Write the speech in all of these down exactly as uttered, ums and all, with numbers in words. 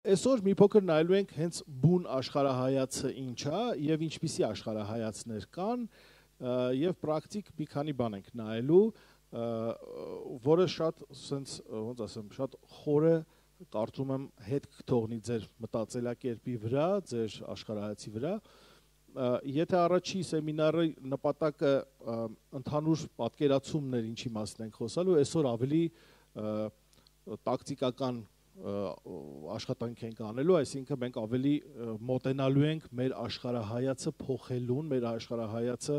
Այսօր մի փոքր նայելու ենք հենց բուն աշխարհայացը ինչ է եւ ինչպիսի աշխարհայացներ կան եւ պրակտիկ մի քանի բան ենք նայելու, որը շատ sense ոնց ասեմ, շատ խորը կարծում եմ հետ կթողնի ձեր մտածելակերպի վրա, ձեր աշխարհայացի վրա։ Եթե առաջի սեմինարի նպատակը ընդհանուր պատկերացումներ ինչի մասին ենք խոսալու, այսօր ավելի տակտիկական աշխատանք ենք անելու, այսինքն մենք ավելի մոտենալու ենք մեր աշխարհայացը փոխելուն, մեր աշխարհայացը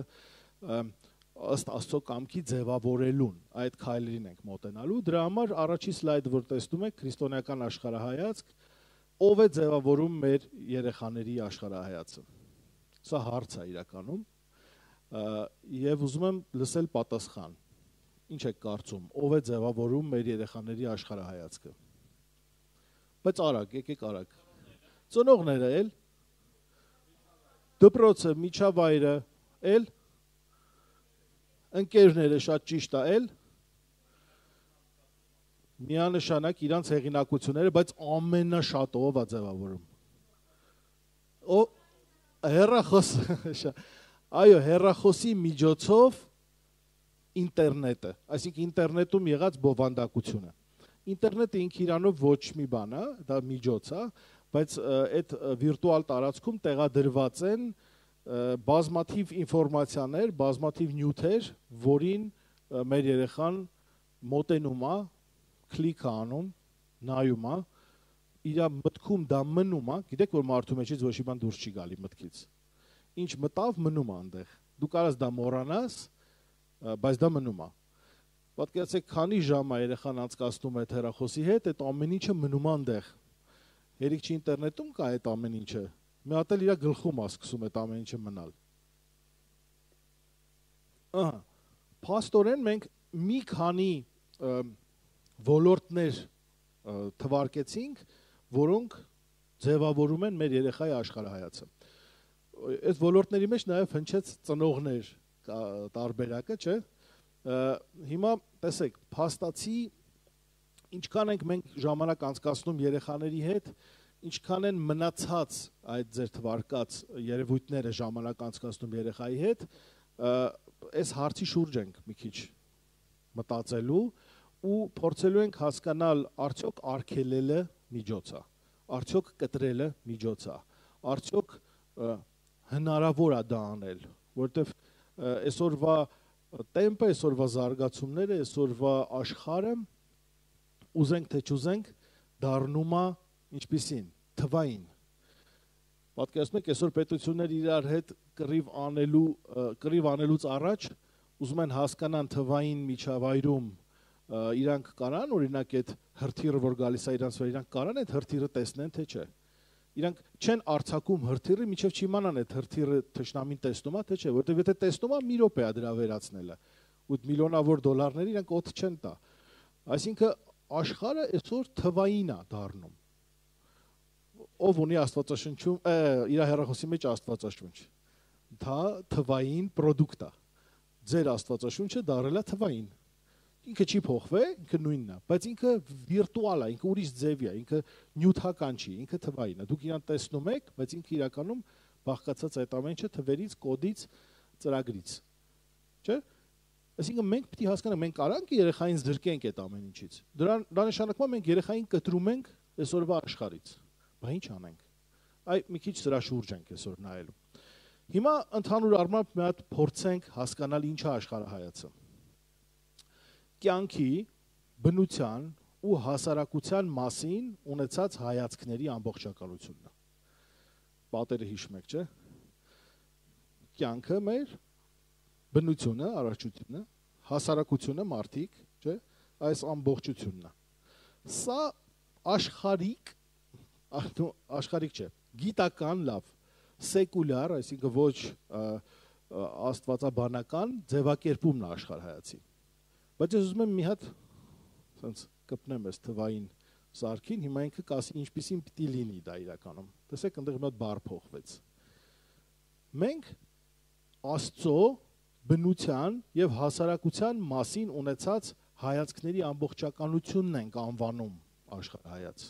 ըստ Աստծո կամքի ձևավորելուն, այդ քայլերին ենք մոտենալու։ Դրա համար առաջի սլայդը, որ տեսնում եք, քրիստոնեական աշխարհայացք, ով է ձևավորում մեր երեխաների աշխարհայացը։ Սա հարց է իրականում, եւ ուզում եմ լսել պատասխան։ Ինչ եք կարծում, ով է ձևավորում մեր երեխաների աշխարհայացքը։ Բայց արագ, եկեք արագ։ Ծնողները էլ, դպրոցը, միջավայրը, էլ, ընկերները շատ ճիշտ է, էլ, միանշանակ իրանց հեղինակությունները, բայց ամենաշատը ով է ձևավորում։ Ո հեռախոս, այո, հեռախոսի միջոցով ինտերնետը, այսինքն ինտերնետում եղած բովանդակությունը։ Ինտերնետը ինք իրանով ոչ մի բան է, դա միջոց է, բայց այդ վիրտուալ տարածքում տեղադրված են բազմաթիվ ինֆորմացիաներ, բազմաթիվ նյութեր, որին մեր երեխան մոտենում է, կլիկ է անում, նայում է, իր մտքում դա մնում է, գիտեք որ մարդու մեջից ոչ մի բան դուրս չի գալի մտքից։ Ինչ մտավ, մնում է այնտեղ։ Դու կարաս դա մոռանաս, բայց դա մնում է։ Պատկերացեք, քանի ժամ է երեխան անցկացնում այդ հեռախոսի հետ, այդ ամեն ինչը մնում է այնտեղ։ Երեք չի ինտերնետում կա այդ ամեն ինչը։ Մի հատ էլ իր գլխում է սկսում այդ ամեն ինչը մնալ։ Ահա, փաստորեն մենք մի քանի ոլորտներ թվարկեցինք, որոնք ձևավորում են մեր երեխայի աշխարհայացը։ Այդ ոլորտների մեջ նաև հնչեց ծնողներ տարբերակը, չէ՞։ Հիմա տեսեք, փաստացի ինչքան ենք մենք ժամանակ անցկացնում երեխաների հետ, ինչքան են մնացած այդ ձեր թվարկած երևույթները ժամանակ անցկացնում երեխայի հետ, այս հարցի շուրջ ենք մի քիչ մտածելու ու փորձելու ենք հասկանալ արդյոք արգելելը միջոց է, արդյոք կտրելը միջոց է, արդյոք հնարավոր է դա անել, որովհետև այսօրվա տեմպը, այսօրվա զարգացումները, այսօրվա աշխարհը ուզենք թե չուզենք դառնում է ինչպիսին, թվային։ Պատկերացնում եք, այսօր պետությունները իրար հետ կռիվ անելու, կռիվ անելուց առաջ ուզում են հասկանան թվային միջավայրում իրանք կարան, օրինակ այդ հրթիռը, որ գալիս է իրանց վրա, իրանք կարան այդ հրթիռը տեսնեն, թե չէ։ Իրանք չեն արձակում հրթիռը, մինչև չիմանան այդ հրթիռը թշնամին տեսնում է, թե չէ, որովհետև եթե տեսնում է, մի րոպե է դրա վերացնելը։ Ու միլիոնավոր դոլարների իրանք օդ չեն տա։ Այսինքն աշխարհը այսօր թվային է դառնում։ Ով ունի աստվածաշնչում, իր հեռախոսի մեջ աստվածաշունչ։ Դա թվային product է։ Ձեր աստվածաշունչը դառել է թվային։ Ինքը չի փոխվել, ինքը նույնն է, բայց ինքը վիրտուալ է, ինքը ուրիշ ձև է, ինքը նյութական չի, ինքը թվային է։ Դուք իրան տեսնում եք, բայց ինքը իրականում բաղկացած այդ ամեն ինչը թվերից, կոդից, ծրագրից։ Չէ՞։ Այսինքն մենք պետք է հասկանանք, մենք կարանք երեխային զրկենք այդ ամեն ինչից։ Դրան դա նշանակում է մենք երեխային կտրում ենք այսօրվա աշխարհից։ Բա ինչ անենք։ Այ մի քիչ սրա շուրջ ենք այսօր նայելու։ Հիմա ընդհանուր առմամբ մի հատ փորձենք հասկանալ ինչ է աշխարհայացը։ Կյանքի, բնության ու հասարակության մասին ունեցած հայացքների ամբողջականությունն է։ Պատերը հիշում եք, չէ՞։ Կյանքը մեր, բնությունը, առողջությունը, հասարակությունը, մարդիկ, չէ՞, այս ամբողջությունն է։ Սա աշխարհիկ, աշխարհիկ չէ, գիտական լավ, սեկուլյար, այսինքն ոչ աստվածաբանական ձևակերպումն է աշխարհայացի։ Բայց ես ուզում եմ մի հատ սենց կպնեմ ես թվային սարքին, հիմա ինքը կասի ինչպիսին պիտի լինի դա իրականում։ Տեսեք, այնտեղ մի հատ բառ փոխվեց։ Մենք Աստծո բնության եւ հասարակության մասին ունեցած հայացքների ամբողջականությունն ենք անվանում աշխարհայաց։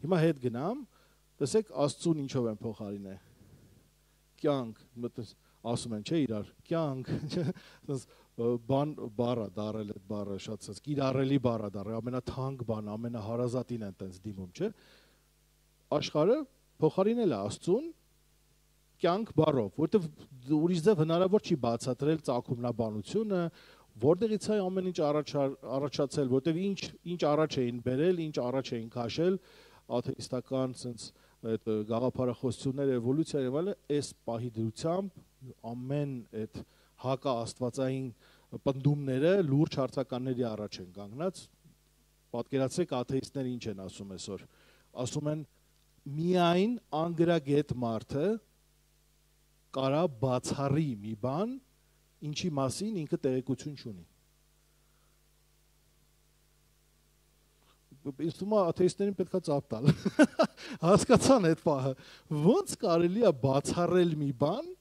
Հիմա հետ գնամ, տեսեք Աստծուն ինչով են փոխարինել։ Կյանք, ասում են, չէ՞ իրար, կյանք, բան բառը դարել այդ բառը շատ ցած, կիրառելի բառը դարել, ամենաթանկ բան, ամենահարազատին են տենց դիմում, չէ՞։ Աշխարհը փոխարինել է Աստծուն կյանք բառով, որովհետև ուրիշ ձև հնարավոր չի բացատրել ծագումնաբանությունը, որտեղից է ամեն ինչ առաջացել, որովհետև ինչ ինչ առաջ էին բերել, ինչ առաջ էին քաշել, աթեիստական sense այդ գաղափարախոսությունները, էվոլյուցիա եւ այլն, այս պահի դրությամբ ամեն այդ հակա աստվածային պնդումները լուրջ հարցականների առաջ են կանգնած։ Պատկերացրեք աթեիստները ինչ են ասում այսօր։ Ասում են միայն անգրագետ մարդը կարա բացառի մի բան, ինչի մասին ինքը տեղեկություն չունի։ Ինձ թվում է աթեիստերին պետք է ծափ տալ։ Հասկացան այդ պահը։ Ոնց կարելի է բացառել մի բան,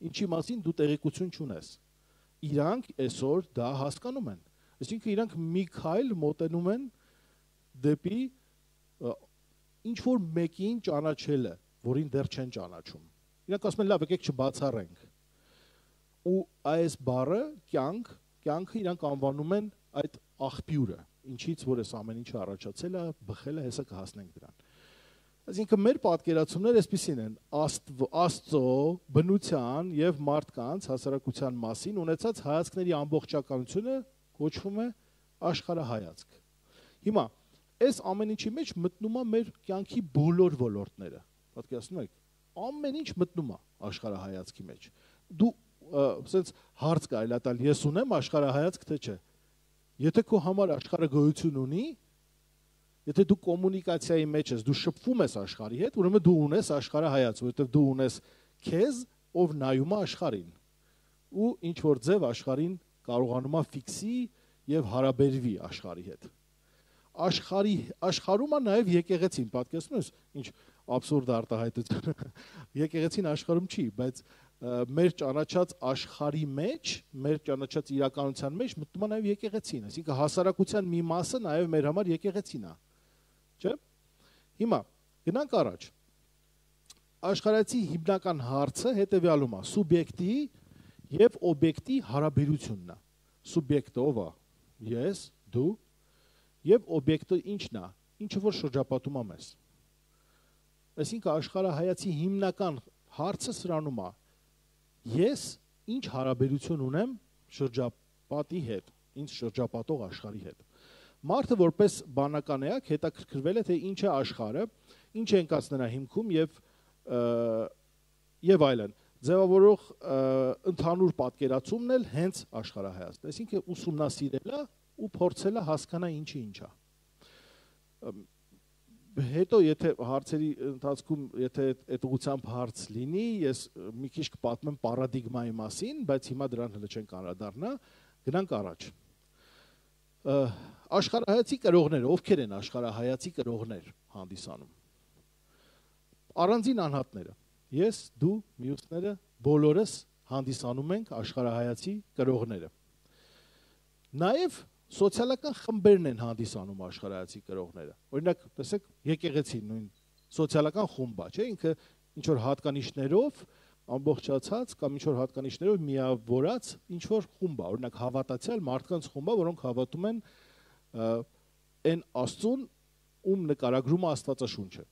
ինչի մասին դու տեղեկություն չունես։ Իրանք այսօր դա հասկանում են։ Այսինքն իրանք մի քայլ մոտենում են դեպի ինչ որ մեկին ճանաչելը, որին դեռ չեն ճանաչում։ Իրանք ասում են լավ, եկեք չբացառենք։ Ու այս բառը կյանք, կյանքը իրանք անվանում են այդ աղբյուրը, ինչից որ այս ամեն ինչը առաջացել է, բխել է, հեսա կհասնենք դրան։ Այսինքն մեր պատկերացումները այսպիսին են, Աստծո բնության եւ մարդկանց հասարակության մասին ունեցած հայացքների ամբողջականությունը կոչվում է աշխարհայացք։ Հիմա այս ամեն ինչի մեջ մտնում է մեր կյանքի բոլոր ոլորտները։ Պատկերացնում եք, ամեն ինչ մտնում է աշխարհայացքի մեջ։ Դու ասենց հարց կարելի է տալ, ես ունեմ աշխարհայացք թե չէ։ Եթե քո համար աշխարհը գոյություն ունի, եթե դու կոմունիկացիայի մեջ ես, դու շփվում ես աշխարհի հետ, ուրեմն դու ունես աշխարհայացք, որովհետև դու ունես քեզ, ով նայում է աշխարհին։ Ու ինչ որ ձև աշխարհին կարողանում է ֆիքսի եւ հարաբերվի աշխարհի հետ։ Աշխարհի աշխարհում է նաեւ եկեղեցին, պատկերացնում ես, ինչ абսուրդ արտահայտություն։ Եկեղեցին աշխարհում չի, բայց մեր ճանաչած աշխարհի մեջ, մեր ճանաչած իրականության մեջ մտնում է նաև եկեղեցին, այսինքն հասարակության մի մասը նաև մեր համար եկեղեցին է, չէ՞։ Հիմա գնանք առաջ։ Աշխարհացի հիմնական հարցը հետևյալում է՝ սուբյեկտի եւ օբյեկտի հարաբերությունն է։ Սուբյեկտը ով է։ Ես, դու, եւ օբյեկտը ինչն է, ինչը որ շրջապատում է մեզ։ Այսինքն աշխարհայացի հիմնական հարցը սրանում է. ես ինչ հարաբերություն ունեմ շրջապատի հետ, ինձ շրջապատող աշխարհի հետ։ Մարդը որպես բանական էակ հետաքրքրվել է թե ինչ է աշխարհը, ինչ է ընկած նրա հիմքում եւ եւ այլն։ Ձևավորող ընդհանուր պատկերացումն էլ հենց աշխարհայացքն է, այսինքն ուսումնասիրել է ու փորձել է հասկանալ ինչի ինչ է։ Հետո եթե հարցերի ընթացքում եթե այդ ուղղությամբ հարց լինի, ես մի քիչ կպատմեմ պարադիգմայի մասին, բայց հիմա դրան հենց չենք անդրադառնա, գնանք առաջ։ Աշխարհայացի կրողները, ովքեր են աշխարհայացի կրողներ հանդիսանում։ Առանձին անհատները, ես, դու, մյուսները, բոլորս հանդիսանում ենք աշխարհայացի կրողները։ Նաև սոցիալական խմբերն են հանդիսանում աշխարհայացի կրողները։ Օրինակ, տեսեք, եկեղեցին նույն սոցիալական խումբ է, չէ՞, ինքը ինչ որ հատկանիշներով ամբողջացած կամ ինչ որ հատկանիշներով միավորած ինչ որ խումբ է, օրինակ հավատացյալ մարդկանց խումբ է, որոնք հավատում են այն Աստծուն, ում նկարագրում է Աստվածաշունչը։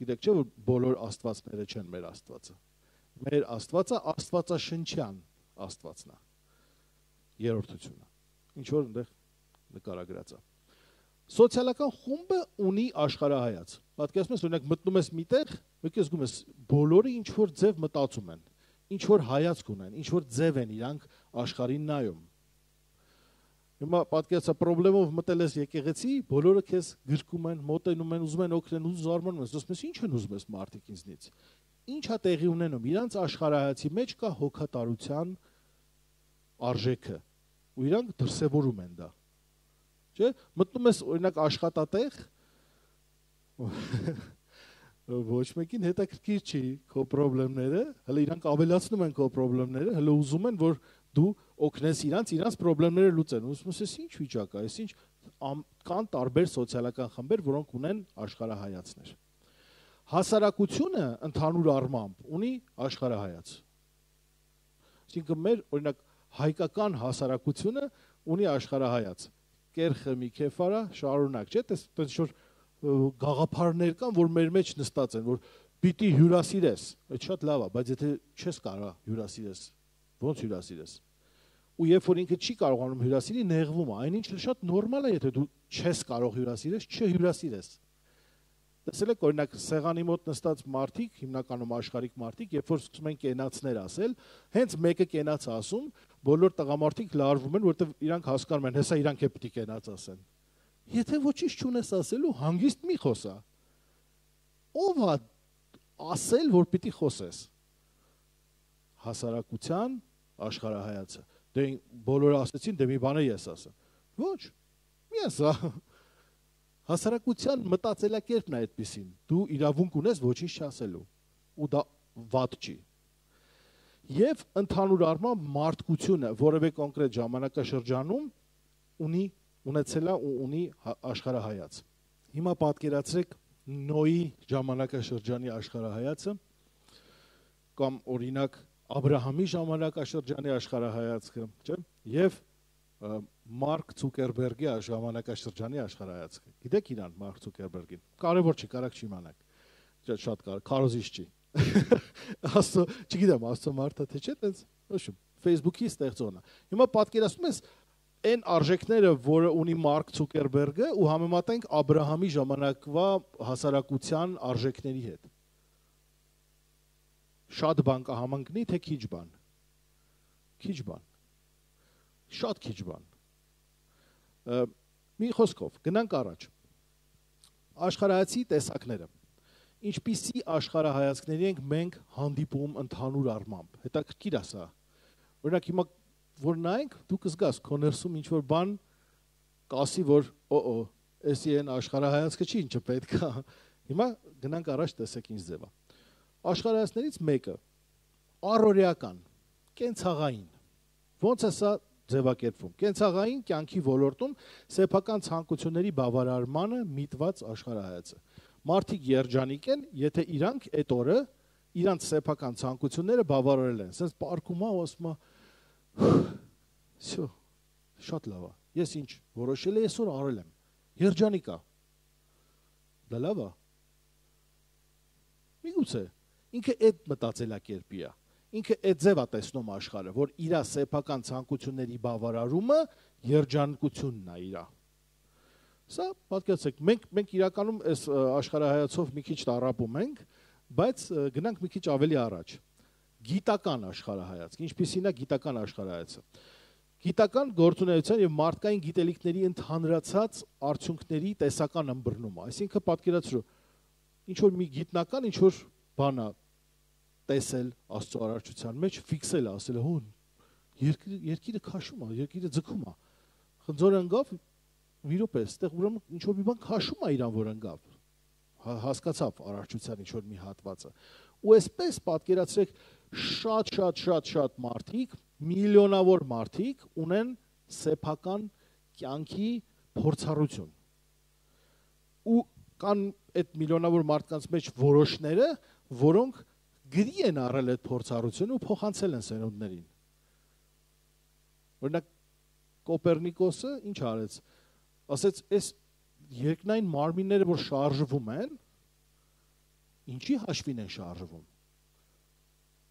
Գիտեք չէ՞ որ բոլոր աստվածները չեն մեր Աստվածը։ Մեր Աստվածը Աստվածաշնչյան Աստվածն է։ Երրորդությունը։ Ինչ որ այնտեղ նկարագրած է։ Սոցիալական խումբը ունի աշխարհայաց։ Պատկերացնում ես, օրինակ մտնում ես միտեղ, մեկ ես զգում ես բոլորը ինչ որ ձև մտածում են, ինչ որ հայացք ունեն, ինչ որ ձև են իրանք աշխարհին նայում։ Հիմա պատկերացա խնդրելով մտել ես եկեղեցի, բոլորը քեզ գրկում են, մոտենում են, ուզում են օգնել, ու զարմանում ես, ասում ես ինչ են ուզում ես մարդիկ ինձնից։ Ինչ է տեղի ունենում։ Իրանց աշխարհայացի մեջ կա հոգատարության արժեքը։ Ու իրանք դրսևորում են դա։ Չէ՞, մտնում ես օրինակ աշխատատեղ, ոչ մեկին հետաքրքիր չի քո խնդիրները, հələ իրանք ավելացնում են քո խնդիրները, հələ ուզում են որ դու օգնես իրանց, իրանց խնդիրները լուծեն։ Ուսում ես ինչ վիճակ է, այս ինչ կան տարբեր սոցիալական խմբեր, որոնք ունեն աշխարհայացներ։ Հասարակությունը ընդհանուր առմամբ ունի աշխարհայաց։ Այսինքն մեր օրինակ հայկական հասարակությունը ունի աշխարհայաց։ Կերխը մի քեֆարա շարունակ, չէ՞, այդպես որ գաղափարներ կան, որ մեր մեջ նստած են, որ պիտի հյուրասիրես, այդ շատ լավ է, բայց եթե չես կարող հյուրասիրես, ո՞նց հյուրասիրես։ Ու երբ որ ինքը չի կարողանում հյուրասիրի, նեղվում է, այնինչ շատ նորմալ է, եթե դու չես կարող հյուրասիրես, չհյուրասիրես։ Տեսել եք օրինակ սեղանի մոտ նստած մարդիկ, հիմնականում աշխարհիկ մարդիկ, երբ որ սկսում են կենացներ ասել, հենց մեկը կենաց ասում, բոլոր տղամարդիկ լարվում են, որովհետև իրանք հասկանում են, հեսա իրանք է պիտի կենաց ասեն։ Եթե ոչինչ չունես ասելու, հանգիստ մի խոսա։ Ո՞վ է ասել, որ պիտի խոսես։ Հասարակության աշխարհայացը։ Դե բոլորը ասեցին, դե մի բան ես ասեմ։ Ոչ, մի ասա։ Հասարակության մտածելակերպն է այդպեսին։ Դու իրավունք ունես ոչինչ չասելու, ու դա վատ չի։ Եվ ընդհանուր առմամբ մարդկությունը որևէ կոնկրետ ժամանակաշրջանում ունի ունեցել է ու ունի աշխարհայաց։ Հիմա պատկերացրեք Նոյի ժամանակաշրջանի աշխարհայացը կամ օրինակ Աբրահամի ժամանակաշրջանի աշխարհայացքը, չէ՞, եւ Մարկ Ցուկերբերգի ժամանակաշրջանի աշխարհայացքը։ Գիտեք իրան Մարկ Ցուկերբերգին։ Կարևոր չի, կարակ չիմանաք։ Շատ կարևոր, քարոզիչ չի։ Աստծո, չգիտեմ, Աստծո մարդը թե չէ, տենց, ոչմ, Facebook-ի ստեղծողն է։ Հիմա պատկերացնում ես այն արժեքները, որը ունի Մարկ Ցուկերբերգը ու համեմատենք Աբրահամի ժամանակվա հասարակության արժեքների հետ։ Շատ բան կհամընկնի, թե քիչ բան։ Քիչ բան։ Շատ քիչ բան։ Մի խոսքով, գնանք առաջ։ Աշխարհայացի տեսակները։ Ինչպիսի աշխարհայացքների ենք մենք հանդիպում ընդհանուր առմամբ։ Հետաքրքիր է սա։ Օրինակ հիմա որ նայենք, դու կզգաս քո ներսում ինչ որ բան կասի, որ օ-օ, էսի են աշխարհայացքը չի ինչը պետք է։ Հիմա գնանք առաջ տեսեք ինչ ձև է։ Աշխարհայացներից մեկը առօրեական, կենցաղային։ Ոնց է սա ձևակերպվում։ Կենցաղային կյանքի ոլորտում սեփական ցանկությունների բավարարմանը միտված աշխարհայացը։ Մարդիկ երջանիկ են, եթե իրանք այդ օրը իրանք սեփական ցանկությունները բավարարել են։ Սենց պարկում է, ասում է Всё, շատ լավ է։ Ես ինչ որոշել եմ, այսօր արել եմ։ Երջանիկ է։ Դա լավ է։ Միգուցե ինքը այդ մտածելակերպի է։ Ինքը այդ ձև է տեսնում աշխարհը, որ իր սեփական ցանկությունների բավարարումը երջանկությունն է իր։ Սա պատկերացրեք, մենք մենք իրականում այս աշխարհայացով մի քիչ տարապում ենք, բայց գնանք մի քիչ ավելի առաջ։ Գիտական աշխարհայացք, ինչպիսին է գիտական աշխարհայացը։ Գիտական գործունեության եւ մարդկային գիտելիքների ընդհանրացած արդյունքների տեսական ըմբռնումը, այսինքն պատկերացրու, ինչ որ մի գիտնական ինչ որ բան է տեսել Աստծո արարչության մեջ, ֆիքսել է, ասել է, հո երկիրը երկիրը քաշում է, երկիրը ձգում է։ Խնձորը ընկավ, մի րոպե, այստեղ ուրեմն ինչ որ մի բան քաշում է իրան, որ ընկավ։ Հասկացավ արարչության ինչ որ մի հատվածը։ Ու այսպես պատկերացրեք շատ շատ շատ շատ մարդիկ, միլիոնավոր մարդիկ ունեն սեփական կյանքի փորձառություն։ Ու կան այդ միլիոնավոր մարդկանց մեջ որոշները, որոնք գրի են առել այդ փորձառությունը ու փոխանցել են սերունդներին։ Օրինակ Կոպերնիկոսը ինչ արեց։ Ասեց, այս երկնային մարմինները, որ շարժվում են, ինչի հաշվին են շարժվում։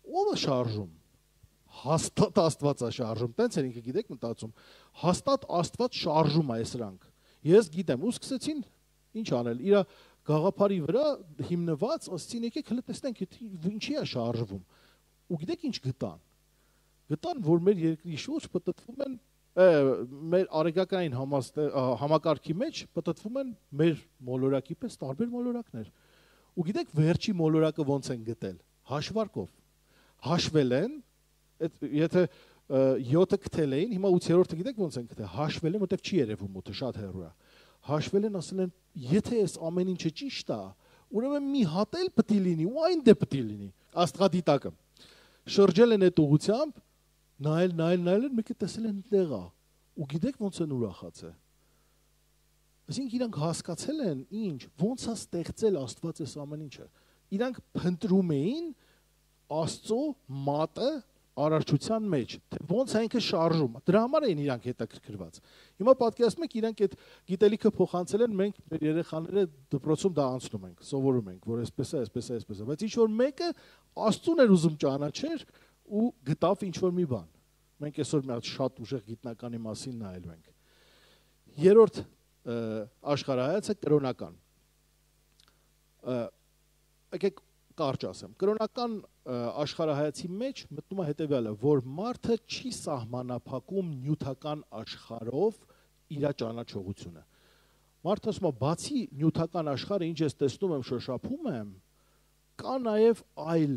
Ո՞վ է շարժում։ Հաստատ Աստված է շարժում, տենց էր ինքը գիտեք մտածում, հաստատ Աստված շարժում է սրանք։ Ես գիտեմ, ու սկսեցին ինչ անել, իր գաղափարի վրա հիմնված, ասեցին եկեք հələ տեսնենք ինչի է շարժվում։ Ու գիտեք ինչ գտան։ Գտան, որ մեր երկրի շուրջ պտտվում են, մեր արեգակային համակարգի մեջ պտտվում են մեր մոլորակի պես տարբեր մոլորակներ։ Ու գիտեք վերջի մոլորակը ոնց են գտել։ Հաշվարկով։ Հաշվել են, եթե յոթը գտել էին, հիմա ութերորդը գիտեք ոնց են գտել, հաշվել են, որտեղ չի երևում ութը, շատ հեռու է։ Հաշվել են, ասել են, եթե այս ամեն ինչը ճիշտ է, ուրեմն մի հատ էլ պետք է լինի, ու այն դե պետք է լինի։ Աստղադիտակը շրջել են այդ ուղությամբ, նայել, նայել, նայել են, մեկը տեսել են տեղա։ Ու գիտեք ոնց են ուրախացել։ Այսինքն իրանք հասկացել են ինչ, ոնց է ստեղծել Աստված այս ամեն ինչը։ Իրանք փնտրում էին Աստծո մատը արարչության մեջ, թե ոնց է ինքը շարժում։ Դրա համար էին իրանք հետաքրքրված։ Հիմա պատկերացնում եք, իրանք այդ գիտելիքը փոխանցել են, մենք մեր երեխաները դպրոցում դա անցնում ենք, սովորում ենք, որ այսպես է, այսպես է, այսպես է, բայց ինչ որ մեկը Աստծուն էր ուզում ճանաչեր ու գտավ ինչ որ մի բան։ Մենք այսօր մի հատ շատ ուժեղ գիտնականի մասին նայելու ենք։ Երրորդ աշխարհայացը կրոնական։ Եկեք կարճ ասեմ, կրոնական աշխարհայացի մեջ մտնում է հետևյալը, որ մարդը չի սահմանափակում նյութական աշխարհով իր ճանաչողությունը։ Մարդը ասում է, բացի նյութական աշխարհը, ինչ ես տեսնում եմ, շոշափում եմ, կա նաև այլ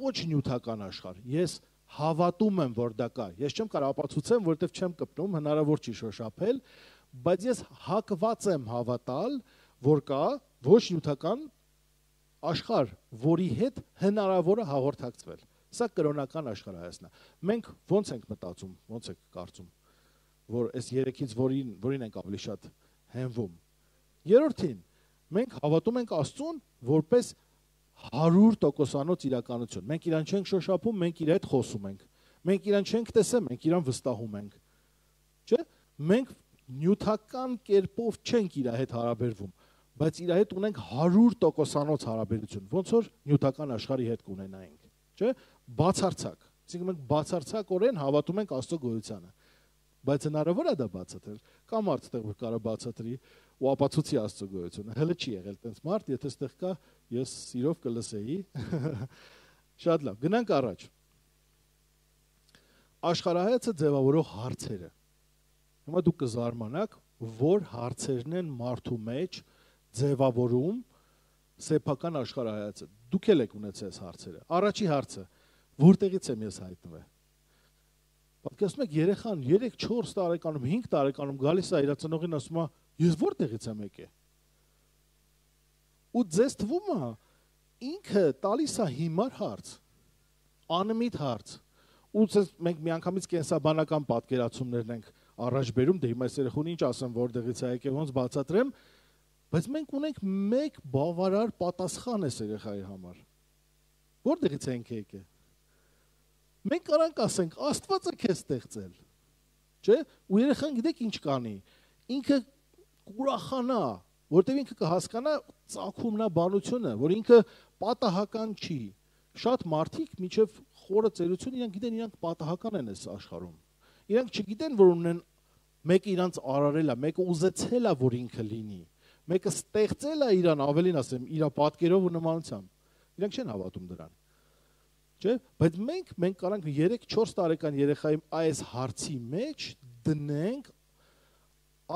ոչ նյութական աշխարհ։ Ես հավատում եմ, որ դա կա։ Ես չեմ կարող ապացուցեմ, որովհետև չեմ կպնում, հնարավոր չի շոշափել, բայց ես հակված եմ հավատալ, որ կա ոչ նյութական աշխարհ, որի հետ հնարավոր է հաղորդակցվել։ Սա կրոնական աշխարհայացն է։ Մենք ո՞նց ենք մտածում, ո՞նց եք կարծում, որ այս երեքից որին, որին ենք ավելի շատ հենվում։ Երրորդին, մենք հավատում ենք Աստծուն որպես հարյուր տոկոսանոց իրականություն։ Մենք իրան չենք շոշափում, մենք իր հետ խոսում ենք։ Մենք իրան չենք տեսել, մենք իրան վստահում ենք։ Չէ՞։ Մենք նյութական կերպով չենք իր հետ հարաբերվում, բայց իր հետ ունենք հարյուր տոկոսանոց հարաբերություն, ոնց որ նյութական աշխարհի հետ կունենայինք, չէ՞։ Բացարձակ։ Այսինքն մենք բացարձակորեն հավատում ենք Աստծո գոյությանը։ Բայց հնարավոր է դա բացատրել։ Կա մարդ, որ կարող բացատրի ու ապացուցի Աստծո գոյությունը։ Հələ չի եղել տենց մարդ, եթե այդտեղ կա, ես սիրով կլսեի։ Շատ լավ, գնանք առաջ։ Աշխարհայացը ձևավորող հարցերը։ Հիմա դուք կզարմանաք, որ հարցերն են մարդու մեջ ձևավորում սեփական աշխարհայացը։ Դուք էլ եք ունեցել այս հարցերը։ Առաջի հարցը, որտեղից եմ ես հայտնվել։ Պատկերացնում եք, երեխան երեք չորս տարեկանում, հինգ տարեկանում գալիս է իր ծնողին ասում է, ես որտեղից եմ եկել։ Ու ձեզ թվում է, ինքը տալիս է հիմար հարց, անմիտ հարց։ Ու մենք միանգամից կենսաբանական պատկերացումներն ենք առաջ բերում, դե հիմա այս երեխուն ինչ ասեմ, որտեղից է եկել, ոնց բացատրեմ, բայց մենք ունենք մեկ բավարար պատասխան այս երեխայի համար։ Որտեղից ենք եկել։ Մենք կարանք ասենք, Աստվածը քեզ ստեղծել, չէ՞։ Ու երեխան գիտեք ինչ կանի։ Ինքը կուրախանա, որտեղ ինքը կհասկանա ծագումնաբանությունը, որ ինքը պատահական չի։ Շատ մարդիկ մինչև խորը ծերություն իրանք գիտեն, իրանք պատահական են այս աշխարհում։ Իրանք չգիտեն, որ ունեն մեկը իրանց արարել է, մեկը ուզեցել է, որ ինքը լինի։ Մեկը ստեղծել է իրան, ավելին ասեմ, իր պատկերով ու նմանությամբ։ Իրանք չեն հավատում դրան։ Չէ՞։ Բայց մենք մենք կարանք երեք չորս տարեկան երեխայի այս հարցի մեջ դնենք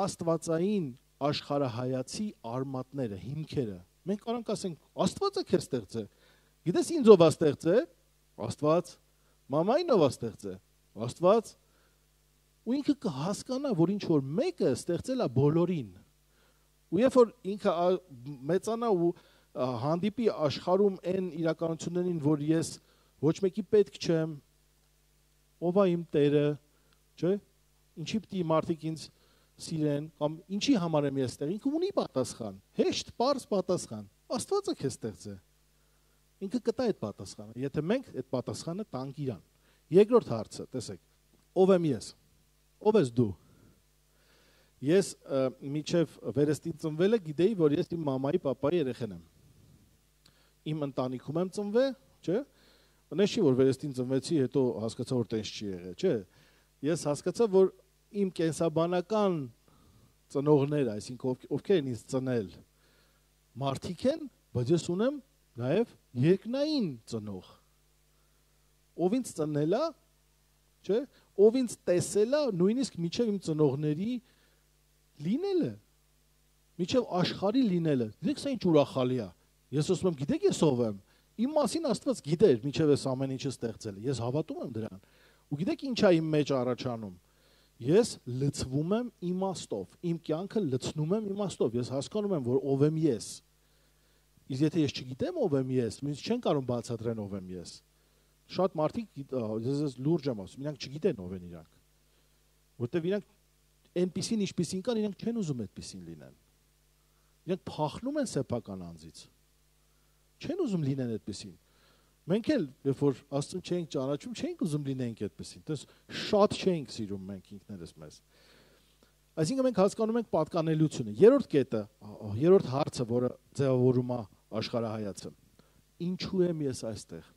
աստվածային աշխարհայացի արմատները, հիմքերը։ Մենք կարանք ասենք, Աստվածը քեզ ստեղծել։ Գիտես ինձ ով է ստեղծել։ Աստված։ Մամային ով է ստեղծել։ Աստված։ Ու ինքը կհասկանա, որ ինչ որ մեկը ստեղծել է բոլորին։ Ու երբ որ ինքը մեծանա ու հանդիպի աշխարհում այն իրականություններին, որ ես ոչ մեկի պետք չեմ, ով է իմ Տերը, չէ՞։ Ինչի պիտի մարդիկ ինձ սիրեն, կամ ինչի համար եմ ես ստեղ, ինքը ունի պատասխան, հեշտ, պարզ պատասխան։ Աստվածը քեզ ստեղծել։ Ինքը կտա այդ պատասխանը, եթե մենք այդ պատասխանը տանք իրան։ Երկրորդ հարցը, տեսեք, ով եմ ես։ Ով ես դու։ Ես միջև վերստին ծնվելը գիտեի, որ ես իմ մամայի, պապայի երեխան եմ։ Իմ ընտանիքում եմ ծնվել, չէ՞։ Բնես չի, որ վերստին ծնվեցի, հետո հասկացա, որ տենց չի եղել, չէ։ Ես հասկացա, որ իմ կենսաբանական ծնողները, այսինքն ովքեր են ինձ ծնել, մարդիկ են, բայց ես ունեմ նաև երկնային ծնող։ Ով ինձ ծնել է, չէ՞, ով ինձ տեսել է, նույնիսկ միջև իմ ծնողների լինելը, միջև աշխարհի լինելը։ Դեք սա ինչ ուրախալի է։ Ես ասում եմ, գիտեք ես ով եմ։ Իմ մասին Աստված գիտեր, միջև ես ամեն ինչը ստեղծել է։ Ես հավատում եմ դրան։ Ու գիտեք ինչ է իմ մեջ առաջանում։ Ես լցվում եմ իմաստով, իմ կյանքը լցնում եմ իմաստով։ Ես հասկանում եմ, որ ով եմ ես։ Իսկ եթե ես չգիտեմ ով եմ ես, ինձ չեն կարող բացատրեն ով եմ ես։ Շատ մարդիկ, ես լուրջ եմ ասում, իրանք չգիտեն ով են իրանք։ Որտեվ իրանք այնպիսին ինչպիսին կան, իրենք չեն ուզում այդպիսին լինեն։ Իրենք փախնում են սեփական անձից։ Չեն ուզում լինեն այդպիսին։ Մենք էլ, երբ որ Աստծուն չենք ճանաչում, չենք ուզում լինենք այդպիսին։ Դες շատ չենք սիրում մենք ինքներս մեզ։ Այսինքն մենք հասկանում ենք պատկանելիությունը։ Երրորդ կետը, երրորդ հարցը, որը ձևավորում է աշխարհայացը։ Ինչու եմ ես այստեղ։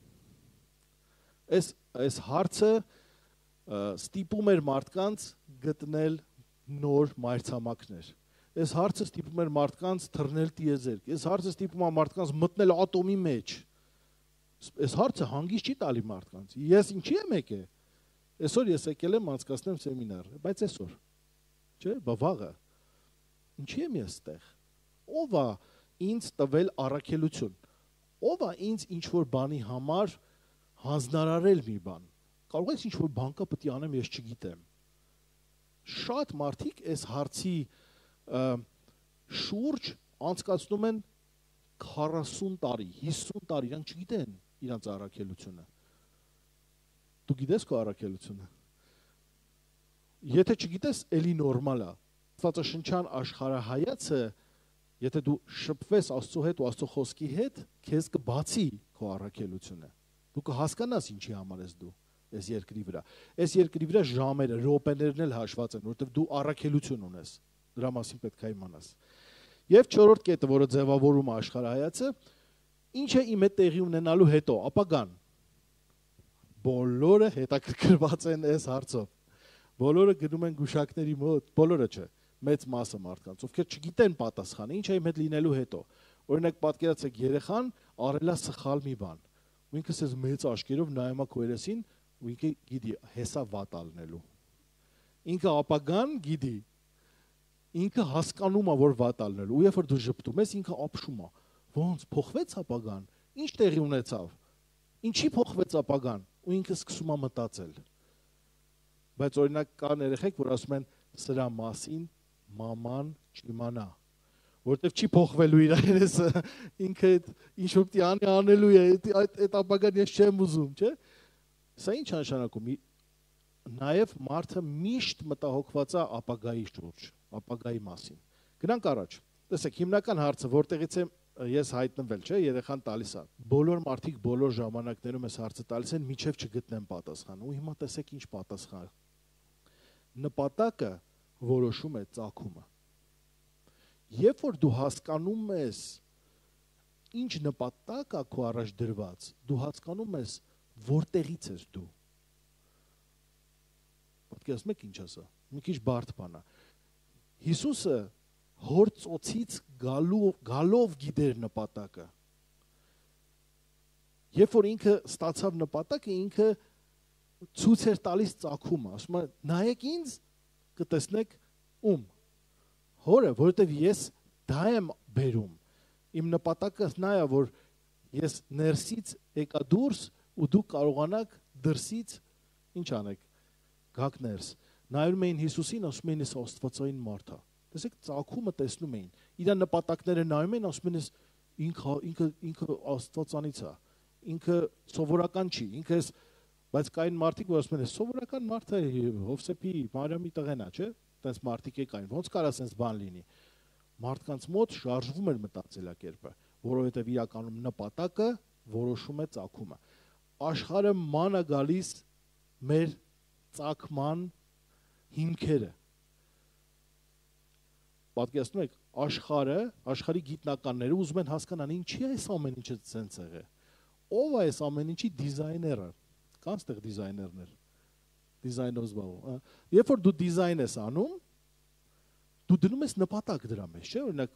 Այս այս հարցը ստիպում էր մարդկանց գտնել նոր մայրցամաքներ։ Այս հարցը ստիպում էր մարդկանց թռնել տիեզերք։ Այս հարցը ստիպում է մարդկանց մտնել ատոմի մեջ։ Այս հարցը հանգիստ չի տալի մարդկանց։ Ես ինչի եմ եկել։ Այսօր ես եկել եմ անցկացնեմ սեմինար, բայց այսօր չէ, բավաղը։ Ինչի եմ ես այդտեղ։ Ո՞վ է ինձ տվել առաքելություն։ Ո՞վ է ինձ ինչ որ բանի համար հանձնարարել մի բան։ Կարող ես ինչ որ բան կա պետք է անեմ, ես չգիտեմ։ Շատ մարդիկ այս հարցի շուրջ անցկացնում են քառասուն տարի, հիսուն տարի, իրանք չգիտեն իրանց առաքելությունը։ Դու գիտես քո առաքելությունը։ Եթե չգիտես, էլի նորմալ է։ Աստվածաշնչյան աշխարհայացը, եթե դու շփվես Աստծո հետ ու Աստծո խոսքի հետ, քեզ կբացի քո առաքելությունը։ Դու կհասկանաս ինչի համար ես դու այս երկրի վրա։ Այս երկրի վրա ժամերը, րոպեներն էլ հաշված են, որովհետև դու առաքելություն ունես։ Դրա մասին պետք է իմանաս։ Եվ չորրորդ կետը, որը ձևավորում է աշխարհայացը, ինչ է իմ հետ տեղի ունենալու հետո, ապագան։ Բոլորը հետաքրքրված են այս հարցով։ Բոլորը գնում են գուշակների մոտ, բոլորը չէ, մեծ մասը մարդկանց, ովքեր չգիտեն պատասխանը, ինչ է իմ հետ լինելու հետո։ Օրինակ պատկերացրեք երեխան արել է սխալ մի բան։ Ու ինքը ասես մեծ աչքերով նայում է քո երեսին, ու ինքը գիտի հեսա վատ ալնելու։ Ինքը ապագան գիտի։ Ինքը հասկանում է, որ վատ ալնելու։ Ու երբ որ դու ժպտում ես, ինքը ապշում է։ Ոնց փոխվեց ապագան։ Ինչ տեղի ունեցավ։ Ինչի փոխվեց ապագան։ Ու ինքը սկսում է մտածել։ Բայց օրինակ կան երեխեք, որ ասում են սրա մասին մաման չիմանա, որտեվ չի փոխվելու իր երեսը, ինքը ինչ որ պիտի անի անելու է, այդ այդ ապագան ես չեմ ուզում, չէ՞։ Սա ինչ նշանակում։ Նաև մարդը միշտ մտահոգված է ապագայի շուրջ, ապագայի մասին։ Գնանք առաջ։ Տեսեք, հիմնական հարցը, որտեղից եմ ես հայտնվել, չէ, երեխան տալիս է։ Բոլոր մարդիկ բոլոր ժամանակներում այս հարցը տալիս են, միջև չգտնեն պատասխան։ Ու հիմա տեսեք ինչ պատասխան։ Նպատակը որոշում է ծագումը։ Երբ որ դու հասկանում ես ինչ նպատակ է քո առաջ դրված, դու հասկանում ես որտեղից ես դու։ Պատկերացնում եք ինչ ասա։ Մի քիչ բարդ բան է։ Հիսուսը հոր ծոցից գալու գալով գիտեր նպատակը։ Երբ որ ինքը ստացավ նպատակը, ինքը ցույց էր տալիս ծագումը, ասում է նայեք ինձ, կտեսնեք ում հորը, որովհետև ես դա եմ բերում։ Իմ նպատակը նա է, որ ես ներսից եկա դուրս ու դուք կարողանաք դրսից ինչ անեք, գաք ներս։ Նայում էին Հիսուսին, ասում էին ես աստվածային մարդ է։ Տեսեք, ծագումը տեսնում էին։ Իր նպատակները նայում էին, ասում են ինքը ինքը ինքը աստվածանից է։ Ինքը սովորական չի, ինքը էս, բայց կային մարդիկ, որ ասում են սովորական մարդը Հովսեփի, Մարիամի տղեն է, չէ՞։ Տենց մարդիկ եկային, ոնց կարա սենց բան լինի։ Մարդկանց մոտ շարժվում էր մտածելակերպը, որովհետև իրականում նպատակը որոշում է ծագումը։ Աշխարհը ման է գալիս մեր ծագման հիմքերը։ Պատկերացնում եք, աշխարհը, աշխարհի գիտնականները ուզում են հասկանալ ինչի է այս ամեն ինչը սենց եղել։ Ո՞վ է այս ամեն ինչի դիզայները։ Կան ստեղ դիզայներներ։ Դիզայնով զբաղվում։ Երբ որ դու դիզայն ես անում, դու դնում ես նպատակ դրա մեջ, չէ՞։ Օրինակ,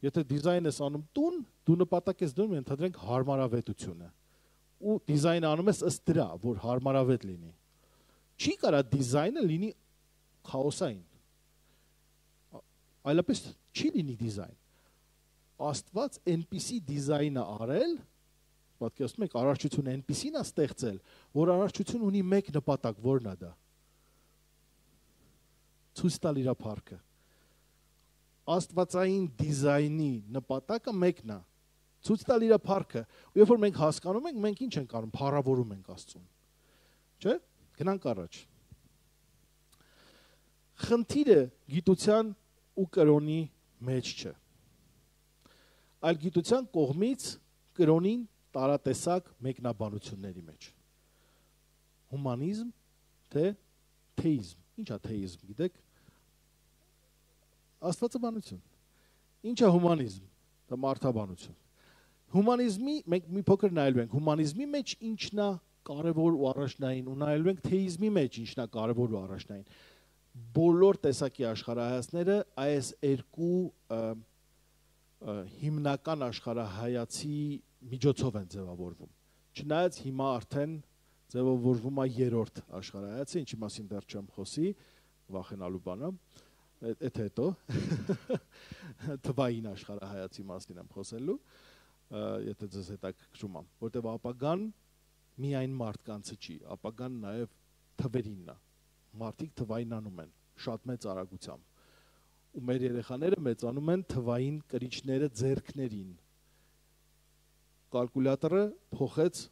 եթե դիզայն ես անում տուն, դու նպատակ ես դնում, ընդհանրենք հարմարավետությունը։ Ու դիզայն անում ես ըստ դրա, որ հարմարավետ լինի։ Չի կարա դիզայնը լինի քաոսային։ Այլապես չի լինի դիզայն։ Աստված այնպիսի դիզայն է արել, պատկերացնում եք, արարչությունը այնպիսին է ստեղծել, որ արարչություն ունի մեկ նպատակ, որն է դա։ Ցույց տալ իր փառքը։ Աստվածային դիզայնի նպատակը մեկն է։ Ցույց տալ իր փառքը։ Ու երբ որ մենք հասկանում ենք, մենք ինչ ենք անում, փառավորում ենք Աստծուն։ Չէ՞։ Գնանք առաջ։ խնդիրը գիտության ու կրոնի մեջ չէ, այլ գիտության կողմից կրոնին տարատեսակ մեկնաբանությունների մեջ։ Հումանիզմ, թե թեիզմ։ Ինչ է թեիզմ, գիտեք։ Աստվածաբանություն։ Ինչ է հումանիզմ, դա մարդաբանություն։ Հումանիզմի մենք մի փոքր նայելու ենք, հումանիզմի մեջ ինչն է կարևոր ու առաջնային, ու նայելու ենք թեիզմի մեջ ինչն է կարևոր ու առաջնային։ Բոլոր տեսակի աշխարհայացները այս երկու հիմնական աշխարհայացի միջոցով են ձևավորվում։ Չնայած հիմա արդեն ձևավորվում է երրորդ աշխարհայացը, ինչի մասին դեռ չեմ խոսի, վախենալու բան է, այդ հետո թվային աշխարհայացի մասին եմ խոսելու, եթե ձեզ հետաքրքրում է, որտեղ ապագան միայն մարդկանցը չի, ապագան նաև թվերինն է, մարդիկ թվայնանում են, շատ մեծ արագությամբ, ու մեր երեխաները մեծանում են թվային կրիչները ձեռքներին, կալկուլյատորը փոխեց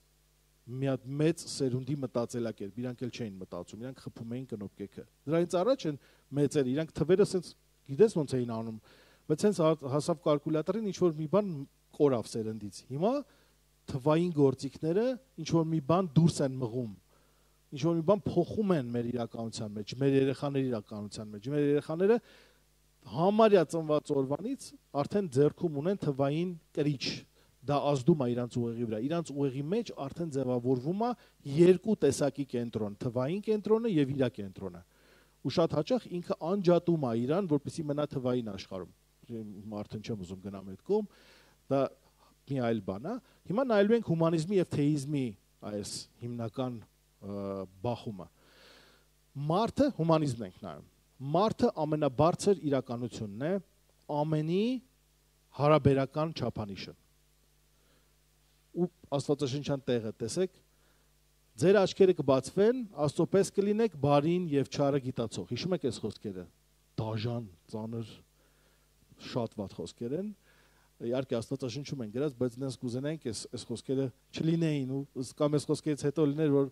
մի հատ մեծ սերունդի մտածելակերպ, իրանք էլ չէին մտածում, իրանք խփում էին կնոպկեքը, դրանից առաջ են մեծերը, իրանք թվերը սենց, գիտես ոնց էին անում, բայց սենց հասավ կալկուլյատորին ինչ-որ մի բան կորավ սերնդից, հիմա թվային գործիքները ինչ-որ մի բան դուրս են մղում, ինչ-որ մի բան փոխում են մեր իրականության մեջ, մեր երեխաների իրականության մեջ, մեր երեխաները համարյա ծնված օրվանից արդեն ձեռքում ունեն թվային կրիչ, դա ազդում է իրանց ուղեղի վրա, իրանց ուղեղի մեջ արդեն ձևավորվում է երկու տեսակի կենտրոն, թվային կենտրոնը եւ իր կենտրոնը, ու շատ հաճախ ինքը անջատում է իրան, որպեսզի մնա թվային աշխարհում, արդեն չեմ ուզում գնամ այդ կողմ, դա մի այլ բան է, հիմա նայելու ենք հումանիզմի եւ թեիզմի այս հիմնական բախումը, մարդը հումանիզմն ենք նայում, մարդը ամենաբարձր իրականությունն է, ամենի հարաբերական չափանիշը, ու աստվածաշնչյան տեղը տեսեք, ձեր աչքերը կբացվեն, Աստծո պես կլինեք բարին եւ չարը գիտացող, հիշում եք այս խոսքերը, դաժան, ծանր, շատ վատ խոսքեր են, իհարկե աստվածաշնչում են գրած, բայց դες կուզենենք այս այս խոսքերը չլինեին ու կամ այս խոսքերից հետո լիներ, որ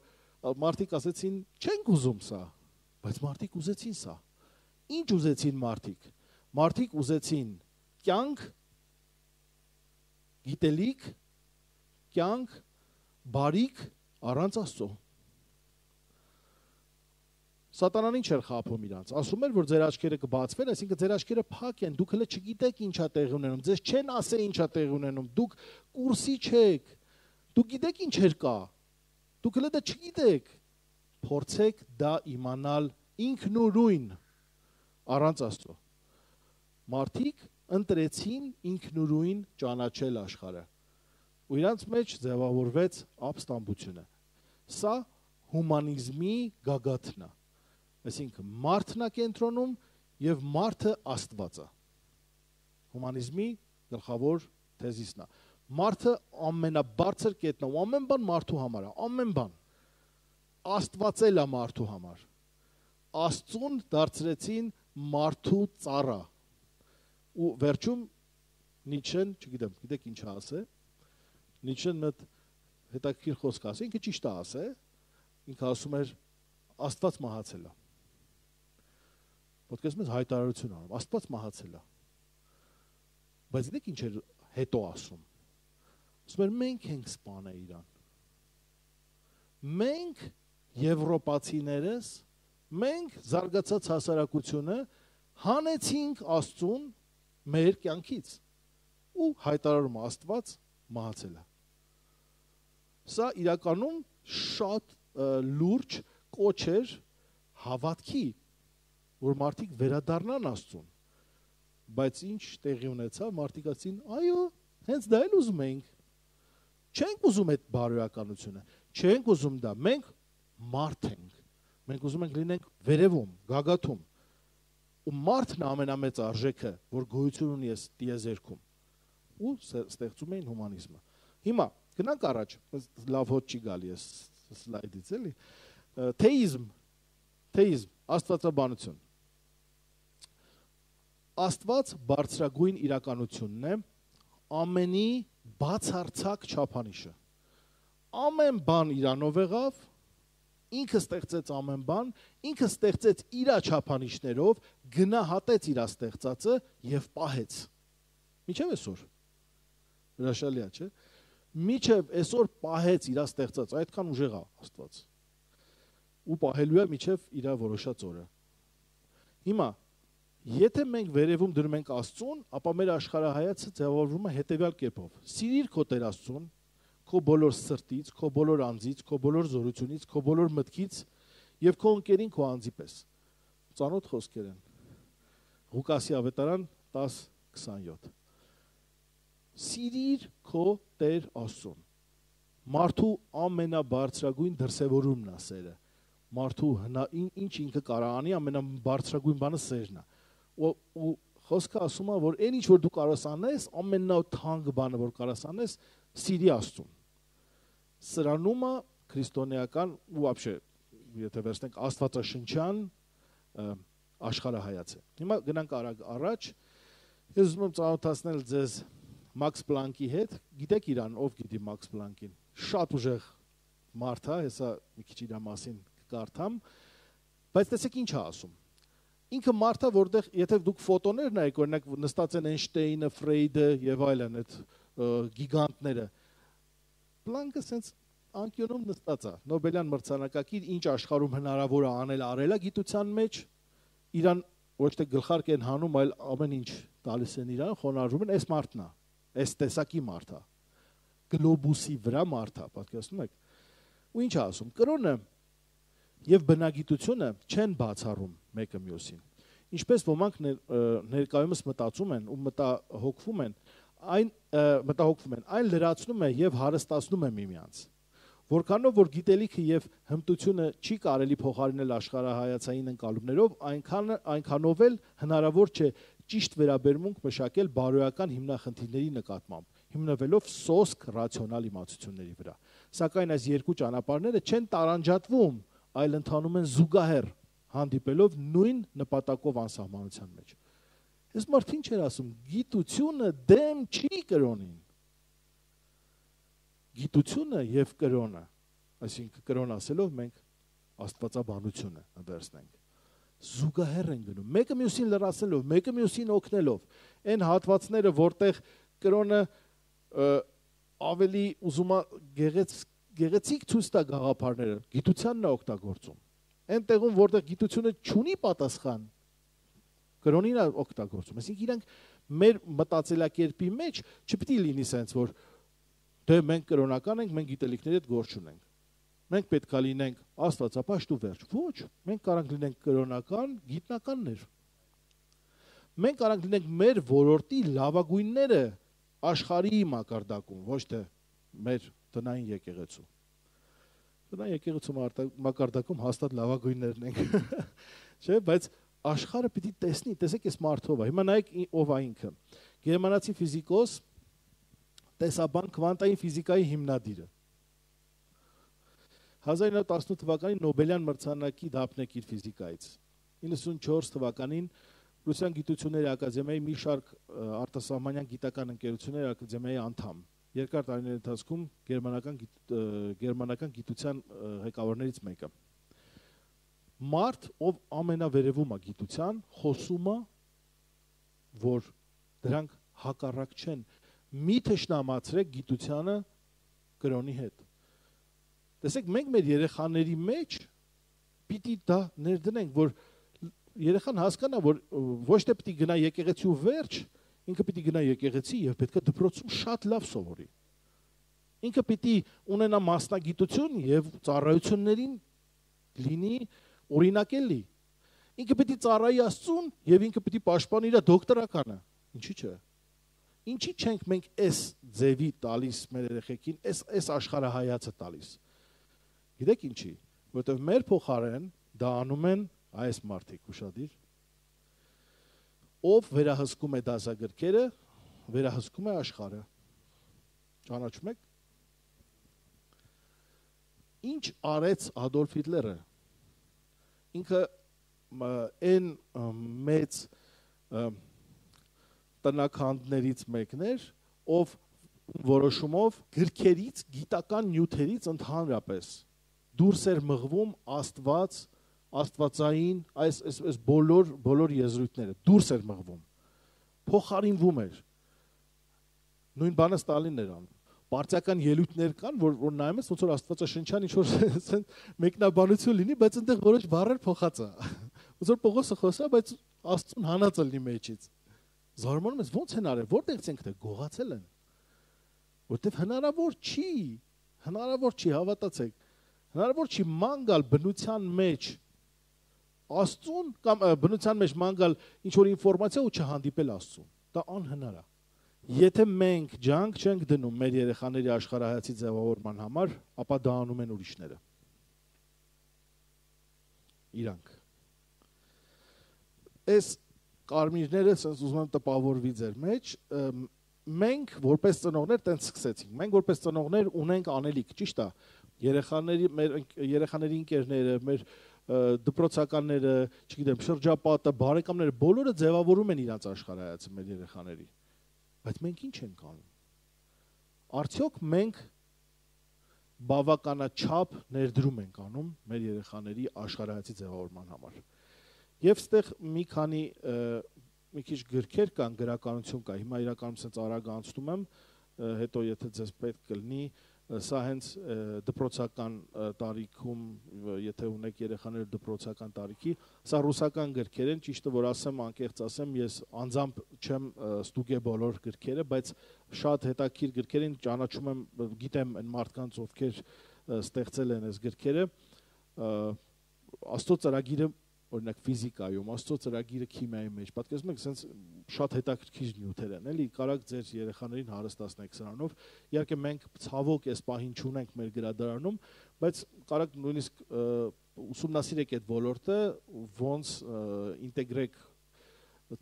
մարդիկ ասեցին, չենք ուզում սա, բայց մարդիկ ուզեցին սա։ Ինչ ուզեցին մարդիկ։ Մարդիկ ուզեցին կյանք, գիտելիք, կյանք, բարիք առանց Աստծո։ Սատանան ինչ էր խաբում իրանց, ասում էր, որ ձեր աչքերը կբացվեն, այսինքն ձեր աչքերը փակ են, դուք հələ չգիտեք ինչա տեղի ունենում, ձեզ չեն ասել ինչա տեղի ունենում, դուք կուրսի չեք, դուք գիտեք ինչեր կա, դուք հələ դա չգիտեք, փորձեք դա իմանալ ինքնուրույն առանց Աստծո։ Մարդիկ ընտրեցին ինքնուրույն ճանաչել աշխարհը, ու իրանց մեջ ձևավորվեց ապստամբությունը։ Սա հումանիզմի գագաթն է։ Այսինքն մարդն է կենտրոնում եւ մարդը Աստված է։ Հումանիզմի գլխավոր թեզիսն է։ Մարդը ամենաբարձր կետն է, ամեն բան մարդու համար է, ամեն բան։ Աստվածել է մարդու համար։ Աստծուն դարձրեցին մարդու ծառա։ Ու վերջում Նիչեն, չգիտեմ, գիտեք ինչ ասե, Նիչեն մեծ հետաքրքիր խոսք ասի, ինքը ճիշտ է ասե, ինքը ասում էր Աստված մահացել է։ Ոտքես մեզ հայտարարություն անում, Աստված մահացել է։ Բայց դեք ինչ էր հետո ասում։ Ասում էր մենք ենք սպանել իրան։ Մենք եվրոպացիներս, մենք զարգացած հասարակությունը հանեցինք Աստծուն մեր կյանքից ու հայտարարում Աստված մահացել է։ Սա իրականում շատ լուրջ կոչ էր հավատքի, որ մարդիկ վերադառնան Աստծուն, բայց ինչ տեղի ունեցավ, մարդիկ ասին, այո, հենց դա էլ ուզում ենք, չենք ուզում այդ բարոյականությունը, չենք ուզում դա, մենք մարդ ենք, մենք ուզում ենք լինենք վերևում, գագաթում, ու մարդն է ամենամեծ արժեքը, որ գոյություն ունի այս տիեզերքում, ու ստեղծում էին հումանիզմը։ Հիմա գնանք առաջ, լավ հոտ չի գալի այս սլայդից էլի, թեիզմ, թեիզմ, աստվածաբանություն։ Աստված բարձրագույն իրականությունն է, ամենի բացարձակ չափանիշը։ Ամեն բան իրանով եղավ, ինքը ստեղծեց ամեն բան, ինքը ստեղծեց իր չափանիշներով, գնահատեց իր ստեղծածը եւ պահեց։ Միչև այսօր։ Հրաշալի է, չէ՞։ Միչև այսօր պահեց իր ստեղծած, այդքան ուժեղ է Աստված։ Ու պահելու է միչև իր որոշած օրը։ Հիմա, եթե մենք վերևում դնում ենք Աստծուն, ապա մեր աշխարհայացը ձևավորվում է հետևյալ կերպով. սիրիր քո Տեր Աստծուն, քո բոլոր սրտից, քո բոլոր անձից, քո բոլոր զորությունից, քո բոլոր մտքից եւ քո ընկերին քո անձի պես։ Ծանոթ խոսքեր են։ Ղուկասի ավետարան տասը քսաներկու։ Սիրիր քո Տեր Աստծուն։ Մարդու ամենաբարձրագույն դրսևորումն է սերը։ Մարդու ինչ ինքը կարող անի, ամենաբարձրագույն բանը սերն է։ Ու խոսքը ասում է, որ այն ինչ որ դու կարաս անես, ամենաթանկ բանը որ կարաս անես, սիրի Աստծուն։ Սրանում է քրիստոնեական ու вообще, եթե վերցնենք աստվածաշնչյան աշխարհայացը։ Հիմա գնանք արագ առաջ։ Ես ուզում եմ ծանոթացնել ձեզ Մաքս Պլանկի հետ։ Գիտեք իրան, ով գիտի Մաքս Պլանկին։ Շատ ուժեղ մարդ է, հեսա մի քիչ իր մասին կարդամ, բայց տեսեք ինչ է ասում։ Ինքը մարդը, որտեղ եթե դուք ֆոտոներ նայեք, օրինակ նստած են Էյնշտեյնը, Ֆրեյդը եւ այլն, այդ գիգանտները, Պլանկը sense անկյունում նստած է, Նոբելյան մրցանակակիր, ինչ աշխարհում հնարավոր է անել, արել է գիտության մեջ, իրան ոչ թե գլխարկ են հանում, այլ ամեն ինչ տալիս են իրան, խոնարհվում են, այս մարդն է, այս տեսակի մարդ է, գլոբուսի վրա մարդ է, պատկերացնում եք։ Ու ինչ է ասում, կրոնը եւ բնագիտությունը չեն բացառում մեկը մյուսին։ Ինչպես ոմանք ներկայումս մտածում են ու մտահոգվում են, այն մտահոգվում են, այն լրացնում է եւ հարստացնում է միմյանց։ Որքանով որ գիտելիքը եւ հմտությունը չի կարելի փոխարինել աշխարհայացային ընկալումներով, այնքան այնքանով էլ հնարավոր չէ ճիշտ վերաբերմունք մշակել բարոյական հիմնախնդիրների նկատմամբ, հիմնվելով սոսկ ռացիոնալ իմացությունների վրա։ Սակայն այս երկու ճանապարհները չեն տարանջատվում, այլ ընթանում են զուգահեռ, հանդիպելով նույն նպատակով անսահմանության մեջ։ Այս մարդը ինչ էր ասում, գիտությունը դեմ չի կրոնին։ Գիտությունը եւ կրոնը, այսինքն կրոն ասելով մենք աստվածաբանությունը վերցնենք, զուգահեռ են գնում, մեկը մյուսին լրացնելով, մեկը մյուսին օգնելով, այն հատվածները, որտեղ կրոնը ավելի ուզում է գեղեց գեղեցիկ ցույց տա գաղափարները, գիտությանն է օգտագործում։ Այնտեղում, որտեղ գիտությունը չունի պատասխան, կրոնին է օգտագործում։ Այսինքն իրանք մեր մտածելակերպի մեջ չպետք է լինի sense, որ դե մենք կրոնական ենք, մենք գիտելիքների հետ գործ չունենք։ Մենք պետք է լինենք աստվածապաշտ ու վերջ։ Ոչ, մենք կարող ենք լինենք կրոնական, գիտնականներ։ Մենք կարող ենք լինենք մեր ոլորտի լավագույնները աշխարհի մակարդակում, ոչ թե մեր տնային եկեղեցու։ Տնային եկեղեցու մակարդակում հաստատ լավագույններն ենք։ Չէ, բայց աշխարհը պիտի տեսնի, տեսեք այս մարդով է։ Հիմա նայեք ով է ինքը։ Գերմանացի ֆիզիկոս, տեսաբան, քվանտային ֆիզիկայի հիմնադիրը։ հազար իննսուն տասնութ թվականին Նոբելյան մրցանակի դափնեկիր ֆիզիկայից։ իննսունչորս թվականին Ռուսյան գիտությունների ակադեմիայի մի շարք արտասահմանյան գիտական ընկերությունների ակադեմիայի անդամ։ Երկար տարիների ընթացքում գերմանական գերմանական գիտության ղեկավարներից մեկը։ Մարդ, ով ամենավերևում է գիտության, խոսում է, որ դրանք հակառակ չեն։ Մի թշնամացրեք գիտությանը կրոնի հետ։ Տեսեք, մենք մեր երեխաների մեջ պիտի դա ներդնենք, որ երեխան հասկանա, որ ոչ թե պիտի գնա եկեղեցի ու վերջ, ինքը պիտի գնա եկեղեցի եւ պետք է դպրոցում շատ լավ սովորի։ Ինքը պիտի ունենա մասնագիտություն եւ ծառայություններին լինի օրինակելի։ Ինքը պիտի ծառայի Աստծուն եւ ինքը պիտի պաշտպանի իր դոկտորականը։ Ինչի՞ չէ։ Ինչի՞ չենք մենք այս ձևի տալիս մեր երեխեքին, այս այս աշխարհայացը տալիս։ Գիտեք ինչի, որովհետեւ մեր փոխարեն դա անում են այս մարդիկ ուշադիր, ով վերահսկում է դասագրքերը, վերահսկում է աշխարհը։ Ճանաչում եք։ Ինչ արեց Ադոլֆ Հիտլերը։ Ինքը այն մեծ տնաքանդներից մեկն էր, ով որոշումով գրքերից, գիտական նյութերից ընդհանրապես դուրս էր մղվում Աստված, Աստվածային այս այս այս բոլոր բոլոր եզրույթները դուրս էր մղվում, փոխարինվում էր։ Նույն բանը Ստալինն էր անում։ Պարտիական ելույթներ կան, որ որ նայում ես, ոնց որ Աստվածաշնչյան ինչ որ մեկնաբանություն լինի, բայց այնտեղ որոշ բառեր փոխած է։ Ոնց որ Պողոսը խոսա, բայց Աստծուն հանած է լինի մեջից։ Զարմանում ես, ո՞նց են արել, որտեղից ենք դե գողացել են։ Որտեվ հնարավոր չի, հնարավոր չի, հավատացեք։ Հնարավոր չի ման գալ բնության մեջ Աստծուն կամ բնության մեջ ման գալ ինչ որ ինֆորմացիա ու չհանդիպել Աստծուն։ Դա անհնար է։ Եթե մենք ջանք չենք դնում մեր երեխաների աշխարհայացի ձևավորման համար, ապա դա անում են ուրիշները։ Իրանք։ Այս կարմիրները sense ուզում եմ տպավորվի ձեր մեջ, մենք որպես ծնողներ տենց սկսեցինք։ Մենք որպես ծնողներ ունենք անելիք, ճիշտ է։ Երեխաների մեր երեխաների ընկերները, մեր դպրոցականները, չգիտեմ, շրջապատը, բարեկամները բոլորը ձևավորում են իրենց աշխարհայացը մեր երեխաների։ Բայց մենք ինչ ենք անում։ Արդյոք մենք բավականաչափ ներդրում ենք անում մեր երեխաների աշխարհայացի ձևավորման համար։ Եվ ստեղ մի քանի մի քիչ գրքեր կան, գրականություն կա։ Հիմա իրականում sense արագ անցնում եմ, հետո եթե ձեզ պետք կլինի, սա հենց դպրոցական տարիքում, եթե ունեք երեխաներ դպրոցական տարիքի, սա ռուսական գրքեր են, ճիշտը որ ասեմ, անկեղծ ասեմ, ես անձամբ չեմ ստուգե բոլոր գրքերը, բայց շատ հետաքրքիր գրքեր են, ճանաչում եմ, գիտեմ այն մարդկանց, ովքեր ստեղծել են այս գրքերը, Աստծո ծրագիրը օրինակ ֆիզիկայում, Աստծո ծրագիրը քիմիայի մեջ, պատկերացնում եք, sense շատ հետաքրքիր նյութեր են, էլի, կարաք ձեր երեխաներին հարստացնեք սրանով։ Իհարկե մենք ցավոք այս պահին չունենք մեր գրադարանում, բայց կարաք նույնիսկ ուսումնասիրեք այդ ոլորտը, ոնց ինտեգրեք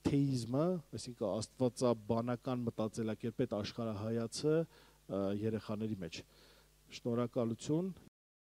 թեիզմը, այսինքն աստվածաբանական մտածելակերպ այդ աշխարհայացը երեխաների մեջ։ Շնորհակալություն։